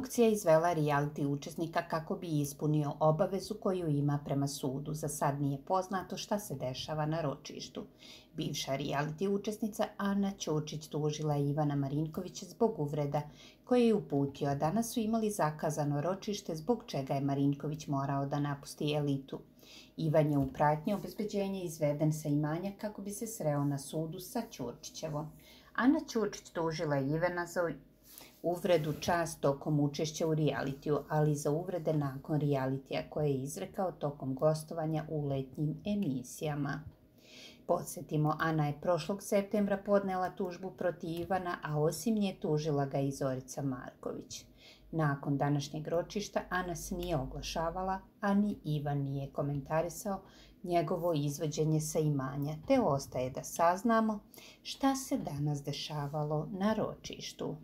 Produkcija je izvela reality učesnika kako bi ispunio obavezu koju ima prema sudu. Za sad nije poznato šta se dešava na ročištu. Bivša reality učesnica Ana Ćočić tužila je Ivana Marinkovića zbog uvreda koje je uputio, a danas su imali zakazano ročište zbog čega je Marinković morao da napusti elitu. Ivan je u pratnji obezbeđenja izveden sa imanja kako bi se sreo na sudu sa Ćurčićevom. Ana Ćurčić tužila je Ivana za uvredu čast tokom učešća u realitiju, ali i za uvrede nakon realitija koje je izrekao tokom gostovanja u letnjim emisijama. Podsjetimo, Ana je prošlog septembra podnela tužbu protiv Ivana, a osim nje tužila ga i Zorica Marković. Nakon današnjeg ročišta Ana se nije oglašavala, a ni Ivan nije komentarisao njegovo izvođenje sa imanja, te ostaje da saznamo šta se danas dešavalo na ročištu.